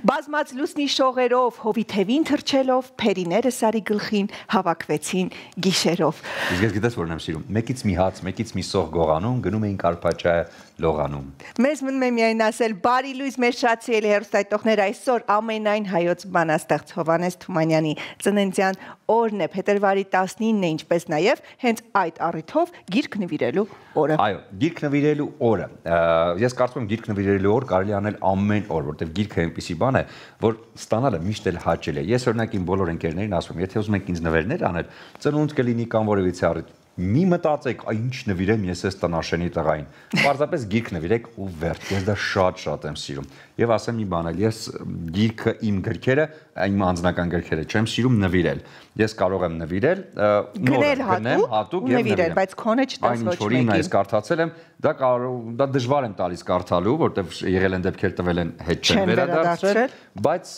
Բազմած լուսնի շողերով, հովի թևին թռչելով, փերիները Սարի գլխին հավաքվեցին գիշերով։ Իսկ ես գիտես որն եմ սիրում։ Մեկից մի հաց, մեկից մի սող գողանում, գնում էին Կարպաճայը լողանում։ Մեզ մնում է միայն ասել բարի լույս մեր շատ սիրելի հեռուստատիտողներ, այսօր ամենայն հայոց բանաստեղծ Հովհաննես Թումանյանի ծննդյան օրն է, փետրվարի 19-ն է, ինչպես նաև հենց այդ առիթով գիրք նվիրելու օրը։ Այո, գիրք նվիրելու օրը։ Ես կարծում եմ գիրք նվիրելու օր կարելի անել ամեն օր, որտեղ գիրքը այնպիսի բան է, որ ստանալը միշտ էլ հաճելի է։ Ես օրինակ իմ բոլոր ընկերներին ասում եմ, եթե ուզում եք ինձ նվերներ անել, ծնունդ կլինի կամ որևիցե առիթ, մի մտածեք, ինչ նվիրեմ ես այս տնաշենի տղային։ Պարզապես գիրք նվիրեք ու վերջ։ Ես դա շատ եմ սիրում։ Եվ ասեմ մի բան, ես գիրքը իմ գրքերը, իմ անձնական գրքերը չեմ սիրում նվիրել։ Ես կարող եմ նվիրել, գնեմ հատուկ եւ նվիրել, բայց քոնը չտաս ոչ մեկին։ Ինչ որ ես կարդացել եմ, դա դժվար եմ տալիս կարդալու, որտեղ եղել են դեպքեր տվել են հետ չեն վերադարձրել, բայց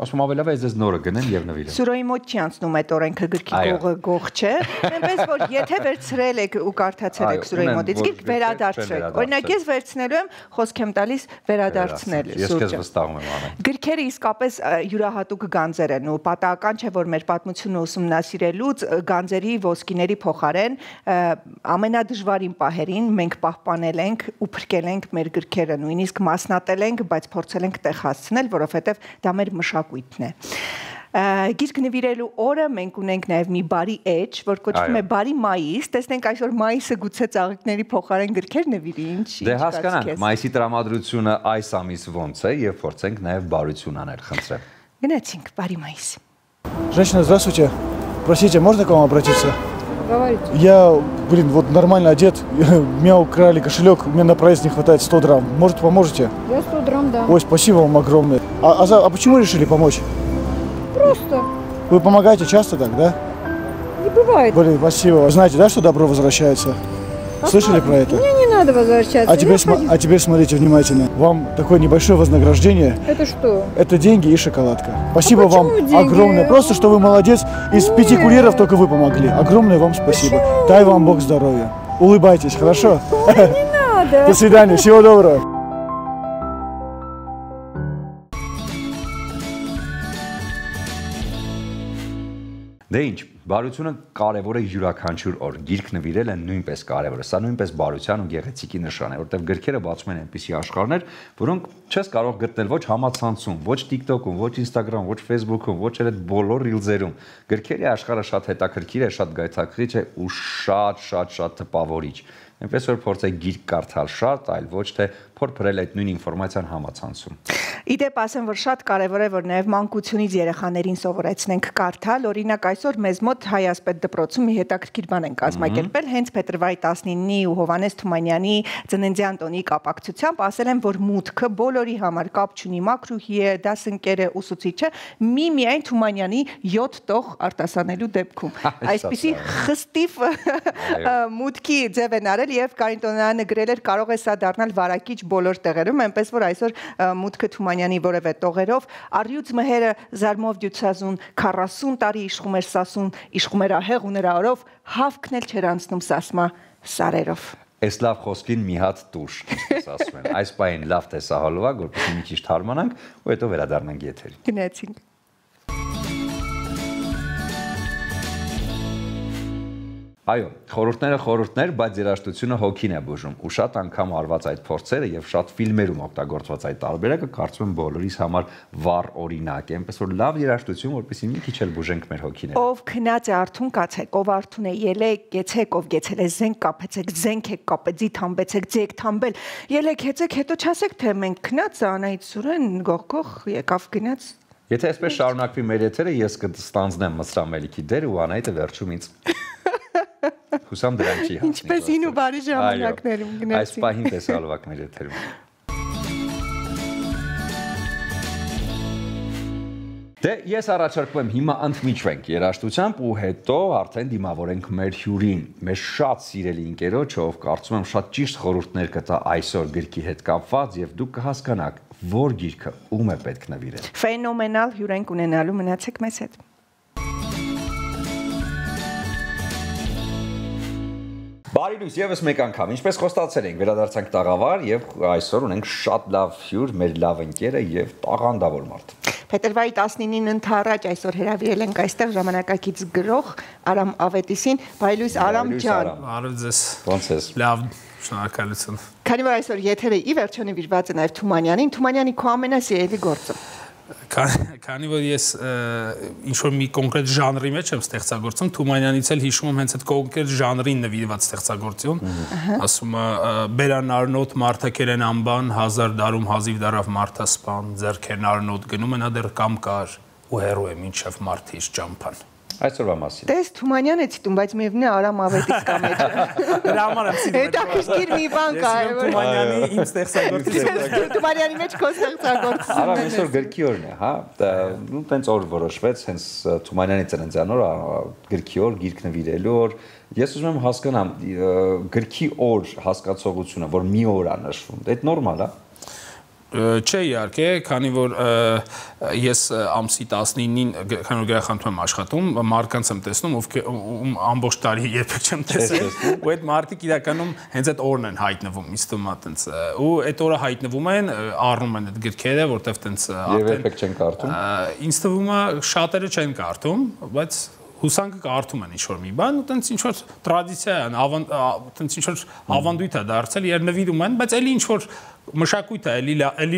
ասում ավելավ է ես նորը գնեմ եւ նվիրեմ։ Սուրոյի մոտ չի անցնում այդ օրենքը գրքի գողը գող չէ, այնպես որ եթե վերցրել եք ու կարդացել եք Սուրոյի մոտից գիրք վերադարձրեք։ Օրինակ ես վերցնելու եմ, խոսք եմ տալիս վերադարձնել Ես քեզ վստահում եմ անեն։ Գրքերը իսկապես յուրահատուկ գանձեր են ու պատահական չէ որ մեր պատմությունը ուսումնասիրելուց գանձերի ոսկիների փոխարեն ամենադժվարին պահերին մենք պահպանել ենք ու փրկել ենք մեր գրքերը, նույնիսկ մասնատել ենք, բայց փորձել ենք տեղ հասցնել, որովհետև դա մեր մշակույթն է։ Գիրք նվիրելու օրը մենք ունենք նաև մի բարի էջ, որ կոչվում է բարի մայիս, տեսնենք այսօր մայիսը գուցե ծաղիկների փոխարեն գրքեր նվիրի, ինչ Դե հասկանանք, մայիսի տրամադրությունը այս ամիս ոնց է եւ փորձենք նաև բարություն аնել, խնդրեմ։ Գնացինք, բարի մայիս։ Женщина, здравствуйте. Простите, можно к вам обратиться? Говорите. Я, вот нормально одет, меня украли кошелек, мне на проезд не хватает 100 драм. Может, поможете? Я 100 драм, да. Ой, спасибо вам огромное. А почему решили помочь? Просто. Вы помогаете часто так, да? Не бывает. Блин, спасибо. Вы знаете, да, что добро возвращается? Слышали про это? Мне не надо возвращаться. А теперь смотрите внимательно. Вам такое небольшое вознаграждение. Это что? Это деньги и шоколадка. Спасибо вам деньги? огромное. Просто, что вы молодец. Из 5 курьеров только вы помогли. Огромное вам спасибо. Дай вам Бог здоровья. Улыбайтесь, хорошо? Не надо. До свидания. Всего доброго. Դե ինչ, բարությունը կարևոր է յուրաքանչյուր օր, գիրք նվիրելը նույնպես կարևոր է, սա նույնպես բարության ու գեղեցիկի նշան է, որտեղ գրքերը բացում են այնպիսի աշխարհներ, որոնք չես կարող գտնել ոչ համացանցում, ոչ TikTok-ում, ոչ Instagram, ոչ Facebook-ում, ոչ էլ այդ բոլոր ռիլզերում։ Գրքերի աշխարհը շատ հետաքրքիր է, շատ գայթակղիչ է ու շատ տպավորիչ։ Այնպես որ փորձեք գիրք կարդալ շատ, այլ ոչ թե փորփրել այդ նույն ինֆորմացիան համացանցում։ Իդեպ ասեմ, որ շատ կարևոր է, որ նաև մանկությունից երեխաներին սովորեցնենք կարդալ, օրինակ այսօր մեզ մոտ Հայասպետ դպրոցում մի հետաքրքիր բան են կազմակերպել, հենց փետրվարի 19-ի ու Հովհաննես Թումանյանի ծննդյան տոնի կապակցությամբ ասել են, որ մուտքը բոլորի համար կապ չունի, մակրուհի է, դասընկեր է, ուսուցիչ է, միայն Թումանյանի 7 տող արտասանելու դեպքում։ Այսպիսի խստիվ մուտքի ձև են արել եւ Կարին Տոնյանը գրել էր, կարող է սա դառնալ վարակիչ բոլոր տեղերում, այնպես որ այսօր մուտքը Թումանյանի որևէ տողերով առյուծ մհերը զարմով դյուցազուն 40 տարի իշխում էր Սասուն, իշխում էր ահեղ ու նրա օրով հավքն էլ չեր անցնում Սասմա սարերով։ Այս լավ խոսքին մի հատ տուշ, ինչպես ասում են։ Այս պահին լավ տեսահոլովակ, որպեսզի մի քիչ թարմանանք ու հետո վերադառնանք եթերին։ Գնացինք։ Այո, խորհուրդներ, բայց երաժշտությունը հոգին է բուժում ու շատ անգամ արված այդ փորձերը եւ շատ ֆիլմերում օգտագործված այդ տարբերակը կարծում եմ բոլորիս համար վառ օրինակ է, այնպես որ լավ երաժշտություն, որպեսզի մի քիչ էլ բուժենք մեր հոգիները։ Ով քնած է արթուն կացեք, ով արթուն է ելեք, գեցեք, ով գեցել է զենք կապեցեք, զենք եք կապել, ձի թամբեցեք, ձի եք թամբել, ելեք հեծեք, հետո չասեք թե մենք քնած Անահիտ Սուրեն գողքող եկավ գնաց։ Եթե այսպես շարունակվի մեր եթերը, ես կստանձնեմ Մսրամելիքի դեր ու Անահիտը վերջում ինձ Հուսամ դրան չի հասնի։ Ինչպես հին ու բարի ժամանակներում գնացին։ Այս պահին տեսալովակներ եթերում։ Դե ես առաջարկում եմ հիմա ընդմիջվենք երաժշտությամբ ու հետո արդեն դիմավորենք մեր հյուրին, մեր շատ սիրելի ընկերոջ, ով կարծում եմ շատ ճիշտ խորհուրդներ կտա այսօր գրքի հետ կապված եւ դուք կհասկանաք, որ գիրքը ում է պետք նվիրել։ Ֆենոմենալ հյուր ենք ունենալու, մնացեք մեզ հետ։ Բարի լույս, եւս մեկ անգամ։ Ինչպես խոստացել ենք, վերադարձանք տաղավար եւ այսօր ունենք շատ լավ հյուր, մեր լավ ընկերը եւ տաղանդավոր մարդ։ Փետրվարի 19-ին ընթառաջ այսօր հրավիրել ենք այստեղ ժամանակակից գրող Արամ Ավետիսին, բարի լույս Արամ ջան։ Բարև ձեզ։ Ոնց ես։ Լավ, շնորհակալություն։ Քանի որ այսօր եթերը ի վերջո նվիրված է նաև Թումանյանին, Թումանյանի քո ամենասիրելի գործը։ Քանի որ ես ինչ որ մի կոնկրետ ժանրի մեջ եմ ստեղծագործում, Թումանյանից էլ հիշում եմ հենց այդ կոնկրետ ժանրին նվիրված ստեղծագործություն, ասում է Բերան Արնոտ Մարտակերեն անբան 1000 դարում հազիվ դարավ մարդասպան, ձեռքերն Արնոտ գնում են ադեր կամ կար ու հերո է մինչև մարդիշ ճամփան։ Այսօրվա մասին։ Տես Թումանյան է ցիտում, բայց միևնույն է Արամ Ավետիս կա մեջ։ Դրա համար եմ ցիտում։ Հետաքրքիր մի բան կա, Թումանյանի իմ ստեղծագործությունը։ Թումանյանի մեջ քո ստեղծագործությունն է։ Արամ այսօր գրքի օրն է, հա։ Ու տենց օր որոշվեց, հենց Թումանյանի ծննդյան օր, գրքի օր, գիրք նվիրելու օր։ Ես ուզում եմ հասկանամ գրքի օր հասկացողությունը, որ մի օր է նշվում, դա նորմալ է։ Չէ, իհարկե, քանի որ ես ամսի 19-ին քանի որ գրախանութում եմ աշխատում, մարդկանց եմ տեսնում, ովքեր ամբողջ տարի երբեք չեմ տեսել, ու այդ մարդիկ իրականում հենց այդ օրն են հայտնվում, ինձ թվում է այտենց, ու այդ օրը հայտնվում են, առնում են այդ գրքերը, որտեվ այտենց Եվ երբեք չեն կարդում։ Ինձ թվում է շատերը չեն կարդում, բայց հուսանքը կարդում են ինչ-որ մի բան, ու տենց ինչ-որ տրադիցիա է, տենց ինչ-որ ավանդույթ է դարձել, երբ նվիրում են, բայց էլի ինչ-որ մշակույթը էլի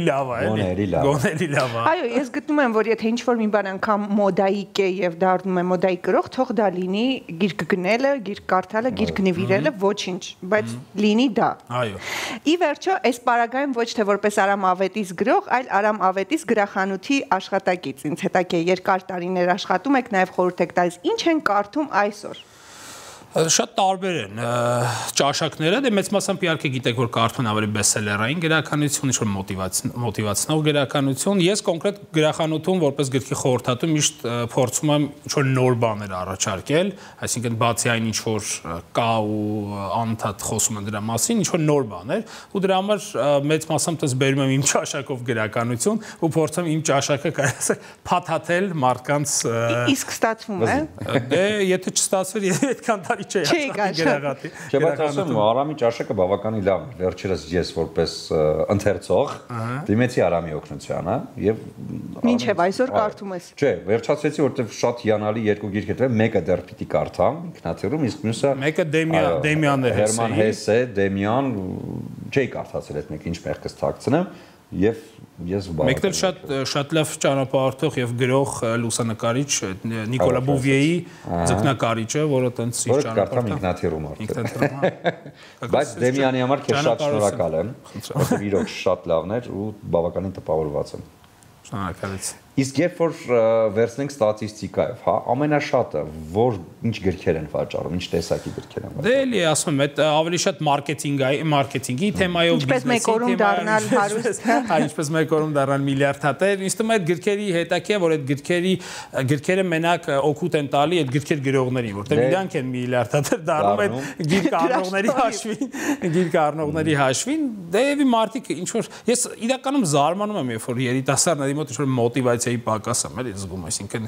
լավ է, գոնե էլի լավ է։ Այո, ես գտնում եմ, որ եթե ինչ-որ մի բան անգամ մոդայիկ է եւ դառնում է մոդայիկ գրող, թող դա լինի գիրք գնելը, գիրք կարդալը, գիրք նվիրելը, ոչինչ, բայց լինի դա։ Այո։ Ի վերջո, այս պարագայում ոչ թե որպես Արամ Ավետիս գրող, այլ Արամ Ավետիս գրախանութի աշխատակից։ Ինձ հետաքրքիր է, երկար տարիներ աշխատում եք, նաեւ խորհուրդ եք տալիս, ինչ են կարդում այսօր։ Շատ տարբեր են ճաշակները, դե մեծ մասամբ իհարկե գիտեք, որ կարդում ավելի բեսելերային գրականություն, ինչ-որ մոտիվացնող գրականություն։ Ես կոնկրետ գրախանութում որպես գրքի խորհրդատու միշտ փորձում եմ ինչ-որ նոր բաներ առաջարկել, այսինքն բացի այն ինչ-որ կա ու անընդհատ խոսում են դրա մասին, ինչ-որ նոր բաներ, ու դրա համար մեծ մասամբ դες բերում եմ իմ ճաշակով գրականություն ու փորձում իմ ճաշակը կարելի ասել փաթաթել մարդկանց։ Իսկ ստացվում է։ Դե եթե չստացվեր, այդքան Չի գերագատի։ Չէ, բայց ասեմ, Արամի ճաշակը բավականին լավ է։ Վերջերս ես որպես ընթերցող դիմեցի Արամի օգնությանը եւ մինչեւ այսօր կարդում ես։ Չէ, վերջացրեցի, որովհետեւ շատ հիանալի երկու գիրք էր, մեկը դեռ պիտի կարդամ ինքնաթիռում, իսկ մյուսը մեկը Դեմիանն է, Հերման Հեսե, Դեմիան, չէի կարդացել այդ մեկը, ինչ մեղքս թաքցնեմ եւ ես մեկն շատ լավ ճանապարհորդող եւ գրող լուսանկարիչ Նիկոլա Բուվիեի ձկնակարիչը, որը տենց իր ճանապարհորդում ինքնաթիռում արդեն։ Բայց Դեմյանի համար քեզ շատ շնորհակալ եմ, որովհետեւ իրոք շատ լավն էր ու բավականին տպավորված եմ։ Շնորհակալություն։ Իսկ երբ որ վերցնենք ստատիստիկայով, հա, ամենաշատը որ ինչ գրքեր են վաճառում, ինչ տեսակի գրքեր են վաճառում։ Դե էլի ասում եմ, այդ ավելի շատ մարքեթինգի թեմայով բիզնեսի թեմայով, ինչպես մեկ օրում դառնալ միլիարդատեր, ինձ թվում է այդ գրքերի հետաքրքիր, որ այդ գրքերը մենակ օգուտ են տալի այդ գրքեր գրողներին, որտեղ իրանք են միլիարդատեր դառնում այդ գիրք առնողների հաշվին, դե եւի մարդիկ ինչ որ ես իրականում զարմանում եմ, երբ որ երիտասարդների մոտ ինչ որ մոտիվացիայի պակաս եմ էլի զգում, այսինքն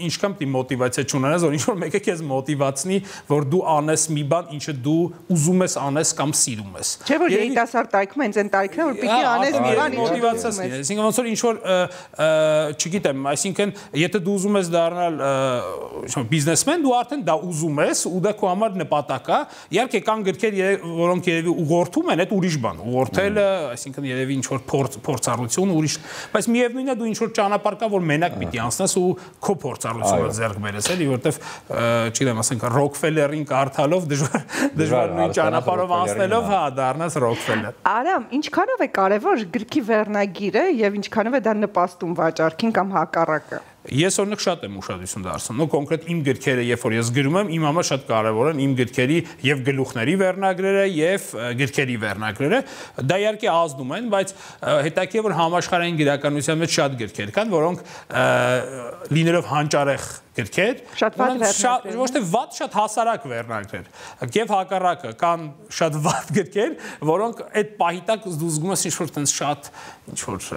ինչքան պիտի մոտիվացիա չունենաս, որ ինչ-որ մեկը քեզ մոտիվացնի, որ դու անես մի բան, ինչը դու ուզում ես անես կամ սիրում ես։ Չէ՞ որ երիտասարդ տարիքում հենց այն տարիքն է, որ պիտի անես մի բան, ինչը մոտիվացիաս լինի։ Այսինքն ոնց որ ինչ-որ չգիտեմ, այսինքն եթե դու ուզում ես դառնալ բիզնեսմեն, դու արդեն դա ուզում ես ու դա քո համար նպատակ է։ Իհարկե կան գրքեր, որոնք երևի ուղղորդում են, այդ ուրիշ բան։ Ուղղորդելը, այսինքն երևի ինչ-որ փորձառություն ուրիշ, բայց միևնույնն է դու ինչ-որ ճանապարհ կա, որ մենակ պիտի անցնես ու քո փորձառությունը ձեռք բերես, էլի, որովհետև չգիտեմ, ասենք Ռոքֆելերին կարդալով դժվար նույն ճանապարհով անցնելով, հա, դառնաս Ռոքֆելեր։ Արամ, ինչքանով է կարևոր գրքի վերնագիրը եւ ինչքանով է դա նպաստում վաճառքին կամ հակառակը։ Ես օրինակ շատ եմ ուշադրություն դարձնում, նո կոնկրետ իմ գրքերը, երբ որ ես գրում եմ, իմ համար շատ կարևոր են իմ գրքերի եւ գլուխների վերնագրերը եւ գրքերի վերնագրերը, դա իհարկե ազդում են, բայց հետաքրքիր որ համաշխարհային գրականության մեջ շատ գրքեր կան, որոնք լինելով հանճարեղ գրքեր, ոչ թե վատ, շատ հասարակ վերնագրեր, եւ հակառակը կան շատ վատ գրքեր, որոնք այդ պահի տակ դու զգում ես ինչ-որ տենց շատ ինչ-որ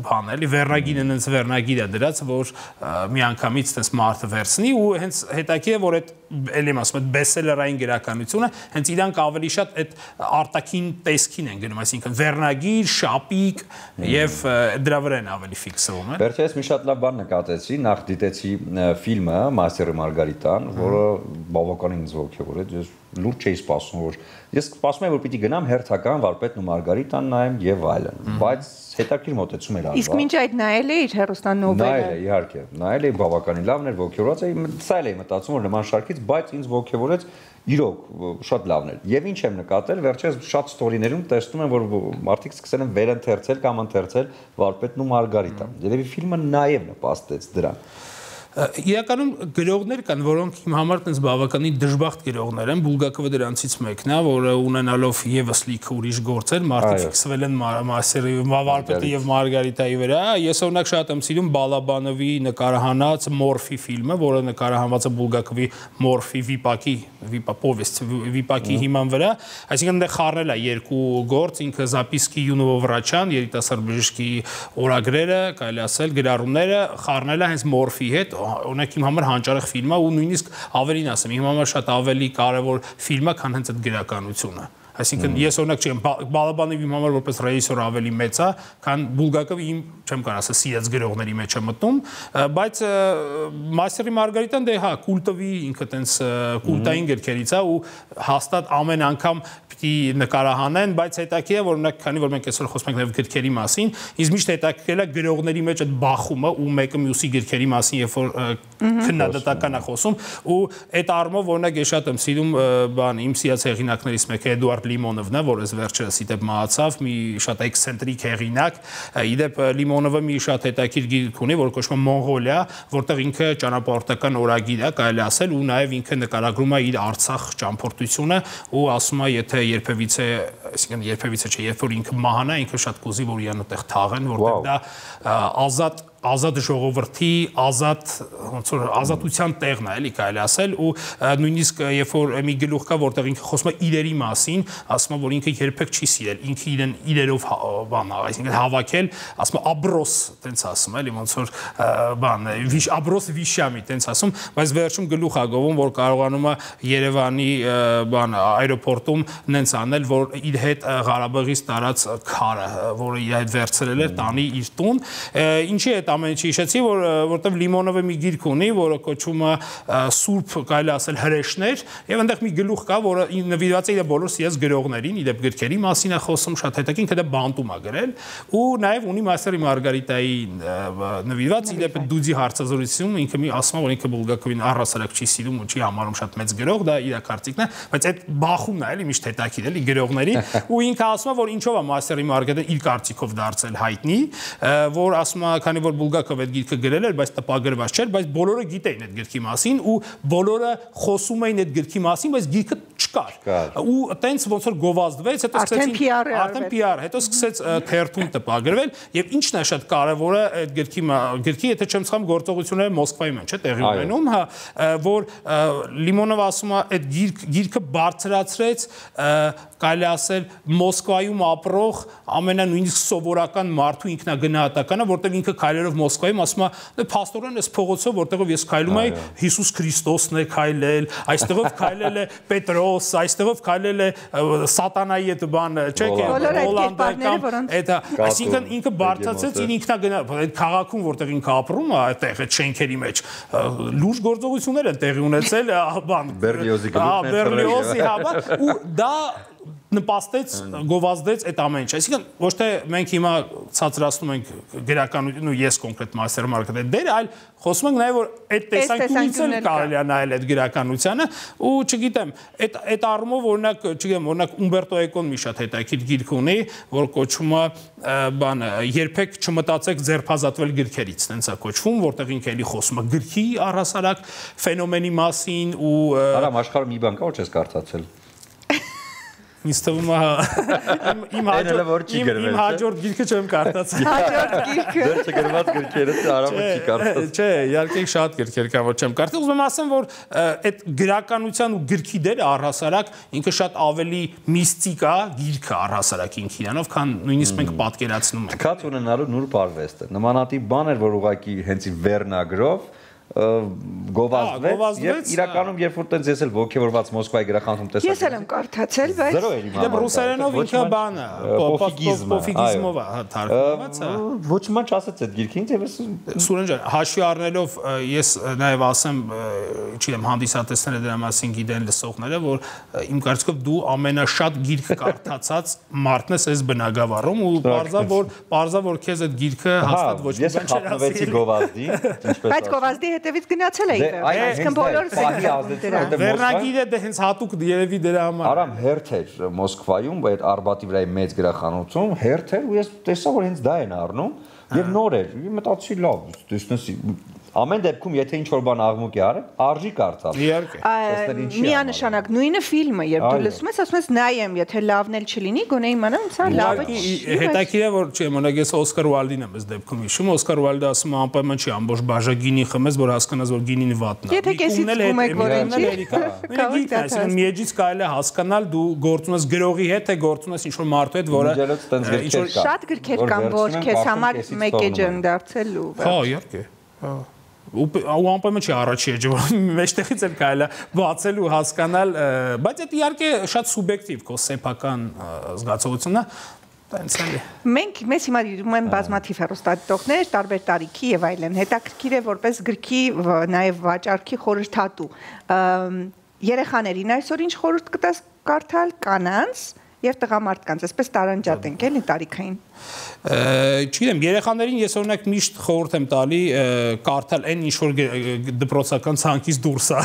բան էլի վերնագիրը նենց վերնագիր է դրած, որ մի անգամից տես մարդը վերցնի ու հենց հետաքրքիր է որ այդ էլի ասում եմ բեսելերային գրականությունը, հենց իրանք ավելի շատ այդ արտաքին տեսքին են գնում, այսինքն վերնագիր, շապիկ եւ դրա վրա են ավելի ֆիքսվում, են։ Վերջերս մի շատ լավ բան նկատեցի, նախ դիտեցի ֆիլմը Մաստերը Մարգարիտան, որը բավականին ինձ ոգևորեց, ես լուրջ չէի սպասում, որ ես սպասում եմ, որ պիտի գնամ հերթական Վարպետն ու Մարգարիտան նայեմ եւ այլն, բայց հետաքրքիր մոտեցում էր արված։ Իսկ մինչ այդ նայել էիր հերոստան նովելը։ Նայել էի, իհարկե, նայել էի բավականին լավն էր, ոգևորած էի, սա էի մտածում, որ նման շարքից, բայց ինձ ոգևորեց իրոք շատ լավն էր։ Եվ ինչ եմ նկատել, վերջերս շատ ստորիներում տեսնում եմ, որ մարդիկ սկսել են վերընթերցել կամ ընթերցել Վարպետն ու Մարգարիտան։ Երևի ֆիլմը նաև նպաստեց դրան։ Իրականում գրողներ կան, որոնք իմ համար տենց բավականին դժբախտ գրողներ են, Բուլգակովը դրանցից մեկն է, որը ունենալով եւս լիքը ուրիշ գործեր, մարդիկ ֆիքսվել են Մաստերի Վարպետի եւ Մարգարիտայի վրա։ Ես օրինակ շատ եմ սիրում Բալաբանովի նկարահանած Մորֆի ֆիլմը, որը նկարահանված է Բուլգակովի Մորֆի վիպակի հիման վրա, այսինքն այնտեղ խառնել է երկու գործ, ինքը Զապիսկի Յունովո Վրաչյան, երիտասարդ բժշկի օրագրերը, կարելի ասել, գրառումները խառնել է հենց Մորֆի հետ, օրինակ իմ համար հանճարեղ ֆիլմ է ու նույնիսկ ավելին ասեմ, իմ համար շատ ավելի կարևոր ֆիլմ է, քան հենց այդ գրականությունը։ Այսինքն ես օրինակ չեմ Բալաբանովի իմ համար որպես ռեժիսոր ավելի մեծ է, քան Բուլգակովի իմ չեմ կարող ասել սիրած գրողների մեջ է մտնում, բայց Մաստերի Մարգարիտան դե հա կուլտովի ինքը տենց կուլտային գրքերից է ու հաստատ ամեն անգամ պիտի նկարահանեն, բայց հետաքրքիր է որ օրինակ քանի որ մենք այսօր խոսում ենք նաև գրքերի մասին, ինձ միշտ հետաքրքրել է գրողների մեջ այդ բախումը ու մեկը մյուսի գրքերի մասին երբ որ քննադատական է խոսում ու այդ առումով օրինակ ես շատ եմ սիրում բան իմ սիրած հեղինակներից մեկը Էդուարդ Լիմոնովն է, որ ես վերջերս իդեպ մահացավ, մի շատ էքսցենտրիկ հեղինակ, իդեպ Լիմոնովը մի շատ հետաքրքիր գիրք ունի, որ կոչվում է Մոնղոլիա, որտեղ ինքը ճանապարհորդական օրագիր է, կարելի ասել, ու նաև ինքը նկարագրում է իր Արցախ ճամփորդությունը ու ասում է, եթե երբևիցե, այսինքն երբևիցե չէ, երբ որ ինքը մահանա, ինքը շատ կուզի, որ իրան այդտեղ թաղեն, որտեղ դա ազատ ժողովրդի, ոնց որ ազատության տեղն է, էլի կարելի ասել ու նույնիսկ երբ որ մի գլուխ կա, որտեղ ինքը խոսում է իրերի մասին, ասում է, որ ինքը երբեք չի սիրել, ինքը իրեն իրերով բան, այսինքն հավաքել, ասում է աբրոս, տենց ասում, էլի ոնց որ բան, աբրոս վիշամի, տենց ասում, բայց վերջում գլուխ է գովում, որ կարողանում է Երևանի բան այրոպորտում նենց անել, որ իր հետ Ղարաբաղից տարած քարը, որը իր հետ վերցրել էր, տանի իր տուն, ինչի հետ ամեն ինչի հիշեցի, որտեղ Լիմոնովը մի գիրք ունի, որը կոչվում է Սուրբ, կարելի ասել հրեշներ, եւ այնտեղ մի գլուխ կա, որը նվիրված է իր բոլոր սիրած գրողներին, իր գրքերի մասին է խոսում, շատ հետաքրքիր, ինքը դա բանտում է գրել, ու նաեւ ունի Մաստերի Մարգարիտայի նվիրված, իր դուձի հարցազրույցում ինքը մի ասում է, որ ինքը Բուլգակովին առհասարակ չի սիրում ու չի համարում շատ մեծ գրող, դա իր կարծիքն է, բայց այդ բախումն է, էլի միշտ հետաքրքիր, էլի գրողների, ու ինքը ասում է, որ ինչով է Մաստերի Մարգարիտան իր կարծիքով դարձել հայտնի, որ ասում է, քանի որ Բուլգակովը այդ գիրքը գրել էր, բայց տպագրված չէր, բայց բոլորը գիտեին այդ գրքի մասին ու բոլորը խոսում էին այդ գրքի մասին, բայց գիրքը չկար։ Ու տենց ոնց որ գովազդվեց, հետո սկսեցին արդեն PR, հետո սկսեց թերթում տպագրվել եւ ինչն է շատ կարեւորը այդ գրքի, եթե չեմ սխալվում, գործողությունները Մոսկվայում են, չէ՞, տեղի ունենում, հա, որ Լիմոնովը ասում է, այդ գիրքը բարձրացրեց, կարելի ասել Մոսկվայում ապրող ամենանույնիսկ սովորական մարդու ինքնագնահատականը, որտեղ ինքը քայլելով Մոսկվայում ասում է, փաստորեն այս փողոցով, որտեղով ես քայլում եմ, Հիսուս Քրիստոսն է քայլել, այստեղով քայլել է Պետրոս, այստեղով քայլել է Սատանայի այդ բանը, չէ՞, Հոլանդական, այսինքն ինքը բարձրացրեց իր ինքնագնահատականը, այդ քաղաքում, որտեղ ինքը ապրում է, այդտեղ այդ շենքերի մեջ լուրջ գործողություններ են տեղի ունեցել, բան Բերլիոզի հավաք ու դա նպաստեց, գովազդեց այդ ամեն ինչ։ Այսինքն ոչ թե մենք հիմա ցածրացնում ենք գրականություն ու ես կոնկրետ Մաստեր Մարգարիտայի դերը, այլ խոսում ենք նաև որ այդ տեսանկյունից էլ կարելի է նայել այդ գրականությանը ու չգիտեմ, այդ առումով օրինակ, չգիտեմ, օրինակ Ումբերտո Էկոն մի շատ հետաքրքիր գիրք ունի, որ կոչվում է բանը երբեք չմտածեք ձերբազատվել գրքերից, տենց է կոչվում, որտեղ ինքը էլի խոսում է գրքի առհասարակ ֆենոմենի մասին ու Արամ աշխարհում մի բան կա, որ չես կարդացել։ Ինձ թվում է իմ հաջորդ գիրքը չեմ կարդացել։ Հաջորդ գիրքը։ Դեռ չգրված գրքերը Արամը չի կարդացել։ Չէ, իհարկե շատ գրքեր կա, որ չեմ կարդացել։ Ուզում եմ ասեմ, որ այդ գրականության ու գրքի դերը առհասարակ ինքը շատ ավելի միստիկ է, գիրքը առհասարակ ինքը իրանով, քան նույնիսկ մենք պատկերացնում ենք։ Թքած ունենալու նուրբ արվեստը։ Նմանատիպ բան էր, որ ուղղակի հենց ի վերնագրով գովազդվեց եւ իրականում երբ որ տենց ես էլ ոգևորված Մոսկվայի գրախանութում տեսա Ես էլ եմ կարդացել, բայց զրո էր իմ Դե ռուսերենով ինքը բանը, պոֆիգիզմով է թարգմանված, ոչ մի բան չասեց այդ գիրքին, եւ Սուրեն ջան, հաշվի առնելով ես նաեւ ասեմ, չգիտեմ, հանդիսատեսները դրա մասին գիտեն լսողները, որ իմ կարծիքով դու ամենաշատ գիրք կարդացած մարդն ես այս բնագավառում ու բարձա որ քեզ այդ գիրքը հաստատ ոչ մի բան չէր ասել։ Գովազդի, բայց գովազդի հետևից գնացել էի, այսինքն բոլորս ենք Վերնագիրը դե հենց հատուկ երևի դրա համար։ Արամ հերթ էր Մոսկվայում, այդ Արբատի վրայի մեծ գրախանութում, հերթ էր ու ես տեսա որ հենց դա են առնում եւ նոր էր։ Մտածի լավ, տեսնես ամեն դեպքում եթե ինչ որ բան աղմուկ է արել, արժի կարծալ։ Իհարկե։ Միանշանակ նույնը ֆիլմը, երբ դու լսում ես, ասում ես նայեմ, եթե լավն էլ չլինի, գոնե իմանամ, սա լավը չի։ Հետաքրքիր է որ չի մոնակ ես Օսկար Ուայլդին եմ այս դեպքում հիշում, Օսկար Ուայլդը ասում է անպայման չի ամբողջ բաժա գինի խմես, որ հասկանաս որ գինին վատն է։ Եթե կեսից խմում եք որ ինչի։ Միեջից կարելի է հասկանալ դու գործում ես գրողի հետ, թե գործում ես ինչ-որ մարդու հետ, որը շատ գրքեր կան, որ քեզ համար մեկ է ջան դարձել ու։ Հա, իհարկե։ Ու անպայման չի առաջի էջը, որ մեջտեղից էլ կարելի է բացել ու հասկանալ, բայց դա իհարկե շատ սուբյեկտիվ քո սեփական զգացողությունն է, տենց էլի։ Մեզ հիմա դիտում են բազմաթիվ հեռուստադիտողներ, տարբեր տարիքի եւ այլն։ Հետաքրքիր է որպես գրքի նաեւ վաճառքի խորհրդատու։ Երեխաներին այսօր ինչ խորհուրդ կտաս կարդալ կանանց եւ տղամարդկանց, այսպես տարանջատ ենք էլի տարիքային։ Չգիտեմ, երեխաներին ես օրինակ միշտ խորհուրդ եմ տալի կարդալ այն ինչ որ դպրոցական ցանկից դուրս է։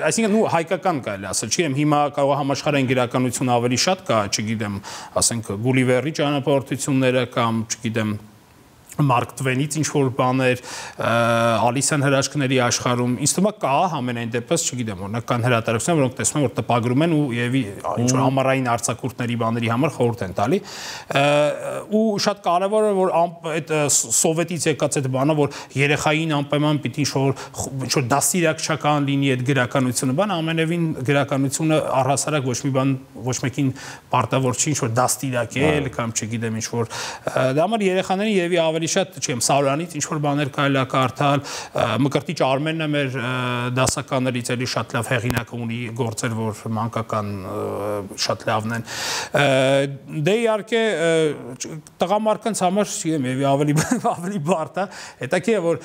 Այսինքն ու հայկական կարելի ասել, չգիտեմ, հիմա կարող է համաշխարհային գրականություն ավելի շատ կա, չգիտեմ, ասենք Գուլիվերի ճանապարհորդությունները կամ, չգիտեմ, Մարկ Տվենից ինչ-որ բաներ, Ալիսան հրաշքների աշխարհում, ինձ թվում է կա ամենայն դեպս, չգիտեմ, օրինակ կան հրատարակություններ, որոնք տեսնում են, որ տպագրում են ու եւի ինչ-որ համառային արձակուրդների բաների համար խորհուրդ են տալի։ Ու շատ կարևոր է, որ այդ սովետից եկած այդ բանը, որ երեխային անպայման պիտի ինչ-որ դաստիարակչական լինի այդ գրականությունը, բան ամենևին գրականությունը առհասարակ ոչ մեկին պարտավոր չի ինչ-որ դաստիարակել կամ չգիտեմ ինչ-որ դա համար երեխաներին եւի ավելի շատ չեմ Սարյանից ինչ որ բաներ կարելի է կարդալ Մկրտիչ Արմենն է մեր դասականներից էլի շատ լավ հեղինակ ունի գործեր որ մանկական շատ լավն են դե իհարկե տղամարդկանց համար չեմ եւ ավելի բարդ է հետաքրքիր է որ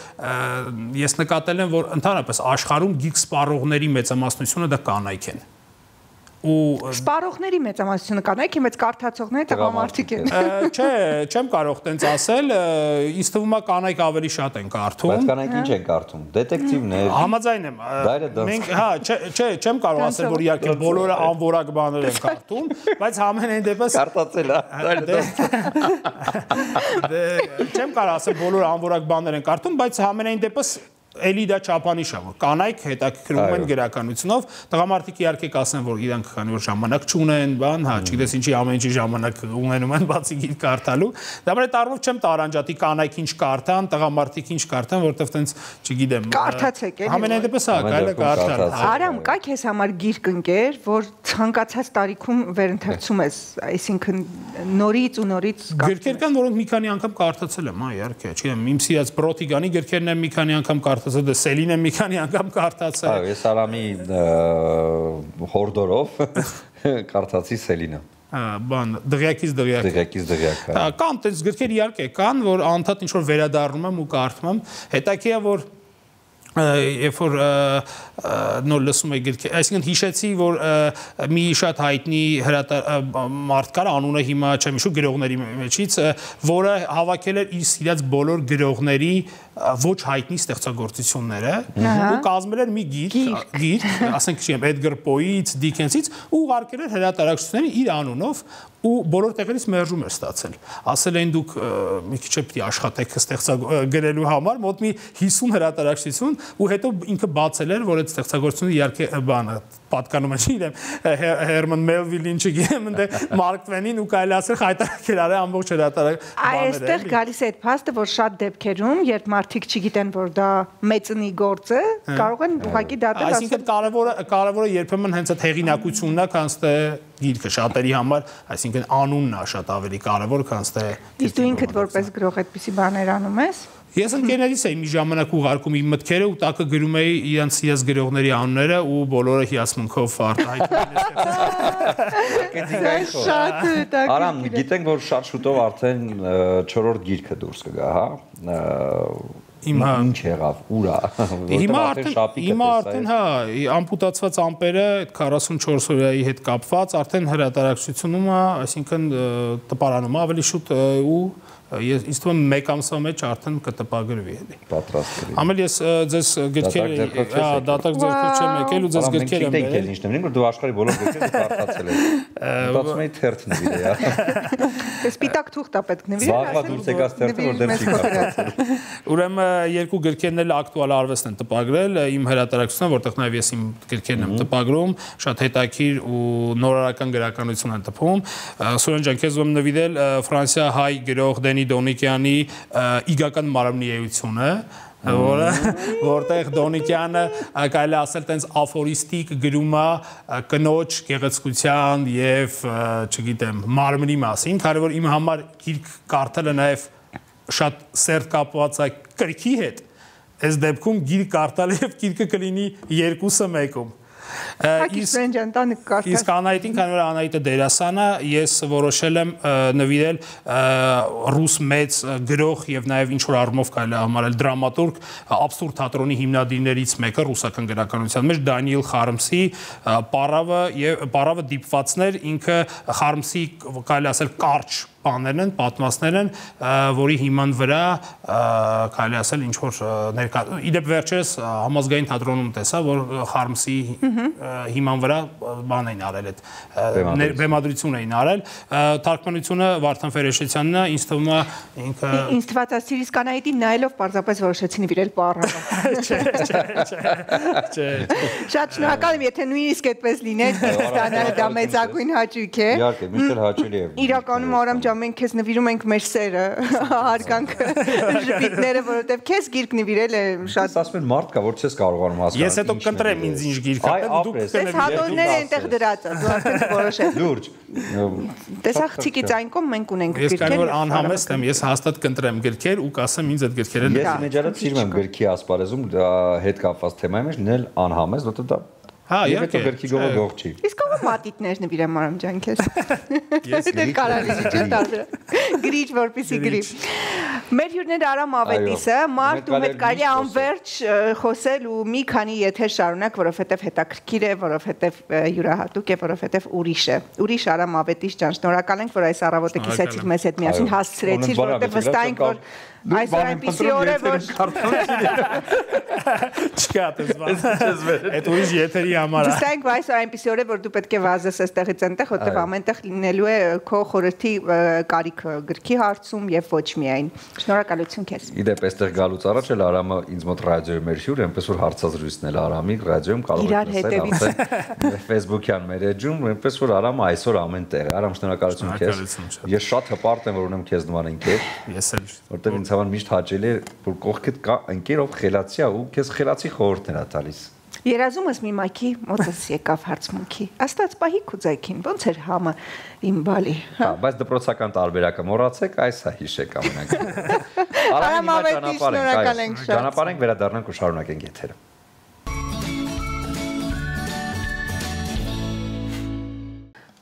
ես նկատել եմ որ ընդհանրապես աշխարհում գիրք սպառողների մեծամասնությունը դա կանայք են ու սպառողների մեծամասնությունը կանայք է, բայց կարդացողները տղամարդիկ են։ Չէ, չեմ կարող տենց ասել, ինձ թվում է կանայք ավելի շատ են կարդում։ Բայց կանայք ինչ են կարդում։ Դետեկտիվներ։ Համաձայն եմ։ Մենք, հա, չէ, չեմ կարող ասել, որ իհարկե բոլորը անորակ բաներ են կարդում, բայց ամենայն դեպս կարդացել է։ Չեմ կարող ասել, բոլորը անորակ բաներ են կարդում, բայց ամենայն դեպս Էլի դա չափանիշ է, որ կանայք հետաքրքրվում են գրականությունով, տղամարդիկ իհարկե կասեն, որ իրանք քանի որ ժամանակ չունեն, բան, հա, չգիտես ինչի ամեն ինչի ժամանակ ունենում են բացի գիրք կարդալու։ Դա մեր տարվով չեմ տարանջատի կանայք ինչ կարդան, տղամարդիկ ինչ կարդան, որովհետև տենց, չգիտեմ, կարդացեք էլի։ Ամենայն դեպս հա, կարելի է կարդալ։ Արամ, կա քեզ համար գիրք ընկեր, որ ցանկացած տարիքում վերընթերցում ես, այսինքն նորից ու նորից Գրքեր կան, որոնք մի քանի անգամ կարդացել եմ, հա, իհարկե, չգիտեմ, իմ սիրած Պրոտիգանի գրքերն եմ մի քանի անգամ կարդացել, դե Սելինը մի քանի անգամ կարդացել։ Այո, ես Արամի հորդորով կարդացի Սելինը։ Բան, դղյակից դղյակ։ Դղյակից դղյակ։ Կան տես գրքեր իհարկե կան, որ անդադ ինչ որ վերադառնում եմ ու կարդում եմ։ Հետաքրքիր է որ երբ որ նոր լսում եք գրքի, այսինքն հիշեցի, որ մի շատ հայտնի մարդ կար, անունը հիմա չեմ հիշում գրողների մեջից, որը հավաքել էր իր սիրած բոլոր գրողների ոչ հայտնի ստեղծագործությունները ու կազմել էր մի գիրք, ասենք չեմ, Էդգար Պոից, Դիկենսից ու ուղարկել էր հրատարակչություններին իր անունով ու բոլոր տեղերից մերժում էր ստացել։ Ասել են դուք մի քիչ պետք է աշխատեք գրելու համար, մոտ մի 50 հրատարակչություն ու հետո ինքը բացել էր, որ այդ ստեղծագործությունը իհարկե բանը պատկանում է, չգիտեմ, Հերման Մելվիլին, չգիտեմ, ընդ Մարկ Տվենին ու կարելի ասել խայտարակել արել ամբողջ հրատարակ բաները։ Այստեղ գալիս է այդ փաստը, որ շատ դեպքերում, երբ մարդիկ չգիտեն, որ դա մեծնի գործ է, կարող են ուղղակի դատել ասել։ Այսինքն կարևորը երբեմն հենց այդ հեղինակությունն է, քան թե գիրքը շատերի համար, այսինքն անունն է շատ ավելի կարևոր, քան թե Իսկ դու ինքդ որպես գրող այդպիսի բաներ անում ես։ Ես ընկերներից էի մի ժամանակ ուղարկում իմ մտքերը ու տակը գրում էի իրենց ես գրողների անունները ու բոլորը հիասմունքով արտահայտում էին։ Շատ հետաքրքիր։ Արամ, գիտենք, որ շատ շուտով արդեն 4-րդ գիրքը դուրս կգա, հա։ Ինչ եղավ, ուրա։ Հիմա արդեն հա, ամպուտացված ամպերը 44 օրյայի հետ կապված արդեն հրատարակությունում է, այսինքն տպարանում է ավելի շուտ ու ինձ թվում է մեկ ամսվա մեջ արդեն կտպագրվի էլի։ Պատրաստ կլինի։ Ամեն ես ձեզ գրքերը, հա, դատակ ձեռքով չեմ եկել ու ձեզ գրքեր եմ բերել։ Ինչ նշում որ դու աշխարհի բոլոր գրքերը կարդացել ես։ Մտածում եի թերթն նվիրել, հա։ Սպիտակ թուղթ է պետք նվիրել։ Զաղվա դուրս եկած թերթը որ դեմ չի կարդացել։ Ուրեմն երկու գրքերն էլ ակտուալ արվեստն են տպագրել, իմ հրատարակությունը, որտեղ նաև ես իմ գրքերն եմ տպագրում, շատ հետաքրքիր ու նորարարական գրականություն են տպում։ Սուրեն ջան, քեզ ում նվիրել Ֆրանսիա-հայ գրող Դոնիկյանի իգական մարմնի էությունը, որտեղ Դոնիկյանը կարելի ասել տենց աֆորիստիկ գրում է կնոջ գեղեցկության եւ, չգիտեմ, մարմնի մասին, քանի որ իմ համար գիրք կարդալը նաեւ շատ սերտ կապված է գրքի հետ, այս դեպքում գիրք կարդալը եւ գիրքը կլինի երկուսը մեկում։ Իսկ Անահիտին, քանի որ Անահիտը դերասան է, ես որոշել եմ նվիրել ռուս մեծ գրող եւ նաեւ ինչ որ առումով կարելի է համարել դրամատուրգ աբսուրդ թատրոնի հիմնադիրներից մեկը ռուսական գրականության մեջ Դանիել Խարմսի Պարավը դիպվածներ, ինքը Խարմսի կարելի ասել կարճ բաներն են, պատմածներ են, որի հիման վրա կարելի ասել ինչ որ ներկա իդեպ վերջերս համազգային թատրոնում տեսա, որ Խարմսի հիման վրա բան էին արել այդ բեմադրություն էին արել, թարգմանությունը Վարդան Ֆերեշեցյանն է, ինձ թվում է ինքը ինձ թվաց ասիրիս կանայտին նայելով պարզապես որոշեցի նվիրել Պարավը։ Շատ շնորհակալ եմ, եթե նույնիսկ այդպես լիներ, ստանալը դա մեծագույն հաճույք է։ Իհարկե, միշտ հաճելի է։ Իրականում Արամ ջան, մենք քեզ նվիրում ենք մեր սերը, հարգանքը, ժպիտները, որովհետև քեզ գիրք նվիրել է շատ։ Ասում են մարդ կա, որ չես կարողանում հասկանալ։ Ես հետո կընտրեմ ինձ ինչ գիրք կապեմ, դուք Այս հատորները այնտեղ դրած է, դու արդեն որոշել։ Լուրջ։ Տեսա խցիկից այն կողմ մենք ունենք գրքեր։ Ես կան որ անհամեստ եմ, ես հաստատ կընտրեմ գրքեր ու կասեմ ինձ այդ գրքերը։ Ես մեջարած սիրում եմ գրքի ասպարեզում հետ կապված թեմայի մեջ նել անհամեստ, որտեղ դա Հա, իհարկե գրքի գողը գող չի։ Իսկ ով մատիտներ նվիրեմ Արամ ջան քեզ։ Ես կարելի չէ տարբեր։ Գրիչ որպեսի գրի։ Մեր հյուրները Արամ Ավետիսը, Մարդ ու հետ կարելի անverջ խոսել ու մի քանի եթեր շարունակ, որովհետև հետաքրքիր է, որովհետև յուրահատուկ է, որովհետև ուրիշ է։ Ուրիշ Արամ Ավետիս ջան, շնորհակալ ենք, որ այս առավոտը կիսեցիք մեզ հետ միասին հասցրեցիր, որովհետև վստահ ենք, որ այսօր այնպիսի օր է, որ չկա դες այդ ուրիշ եթերի համար է։ Վստահ ենք, որ այսօր այնպիսի օր է, որ դու պետք է վազես այստեղից այնտեղ, որտեղ ամենտեղ լինելու է քո խորհրդի կարիքը գրքի հարցում եւ ոչ միայն։ Շնորհակալություն քեզ։ Իդեպ այստեղ գալուց առաջ էլ Արամը ինձ մոտ ռադիոյի մեր հյուր, այնպես որ հարցազրույցն էլ Արամի ռադիոյում կարող եք լսել, արդեն Facebook-յան մեր էջում, այնպես որ Արամը այսօր ամեն տեղ է։ Արամ, շնորհակալություն քեզ։ Ես շատ հպարտ եմ, որ ունեմ քեզ նման ընկեր։ Ես էլ որտեղ ինձ համար միշտ հաճելի է, որ կողքդ կա ընկեր, ով խելացի է ու քեզ խելացի խորհուրդներ է տալիս։ Երազումս մի մայքի մոտս եկավ հարցմունքի։ Աստված պահի քուձայքին, ոնց էր համը իմ բալի։ Հա, բայց դպրոցական տարբերակը մոռացեք, այս է հիշեք ամենակ։ Արամ Ավետիս, շնորհակալ ենք շատ։ Ճանապարհենք, վերադառնանք ու շարունակենք եթերը։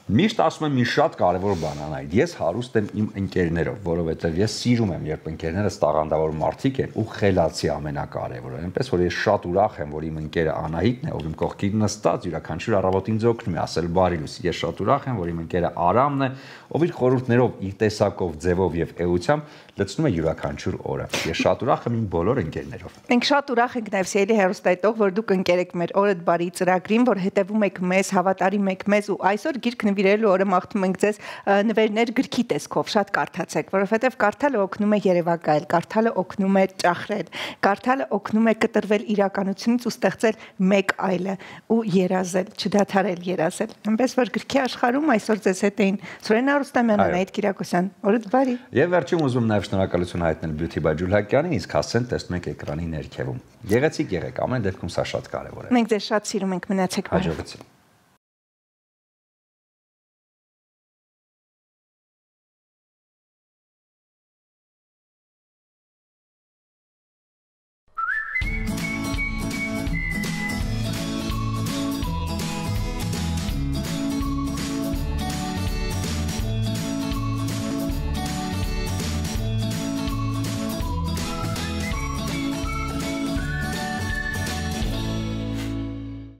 Միշտ ասում եմ մի շատ կարևոր բան անայդ։ Ես հարուստ եմ իմ ընկերներով, որովհետև ես սիրում եմ, երբ ընկերներս տաղանդավոր մարդիկ են ու խելացի ամենակարևորը։ Այնպես որ ես շատ ուրախ եմ, որ իմ ընկերը Անահիտն է, ով իմ կողքին նստած յուրաքանչյուր առավոտ ինձ օգնում է ասել բարի լույս։ Ես շատ ուրախ եմ, որ իմ ընկերը Արամն է, ով իր խորհուրդներով, իր տեսակով, ձևով եւ էությամբ լցնում է յուրաքանչյուր օրը։ Ես շատ ուրախ եմ իմ բոլոր ընկերներով։ Մենք շատ ուրախ ենք նաև Սիրելի հեռուստայտող, որ դուք ընկեր եք մեր օրդ բարի ծրագրին, որ հետևում եք մեզ, հավատարիմ եք մեզ ու այսօր գիրք նվիրելու օրը մաղթում ենք ձեզ նվերներ գրքի տեսքով շատ կարդացեք, որովհետև կարդալը օգնում է երևակայել, կարդալը օգնում է ճախրել, կարդալը օգնում է կտրվել իրականությունից ու ստեղծել մեկ այլը ու երազել, չդադարել երազել։ Այնպես որ գրքի աշխարհում այսօր ձեզ հետ էին Սուրեն Արուստամյան, Անահիտ Կիրակոսյան, օրդ բարի։ Եվ վերջում ուզում նաև շնորհակալություն հայտնել Beauty by Ջուլհակյանին, իսկ հասցեն տեսնում եք էկրանի ներքևում։ Գեղեցիկ եղեք, ամեն դեպքում սա շատ կարևոր է։ Մենք ձեզ շատ սիրում ենք, մնացեք բարով։ Հաջողություն։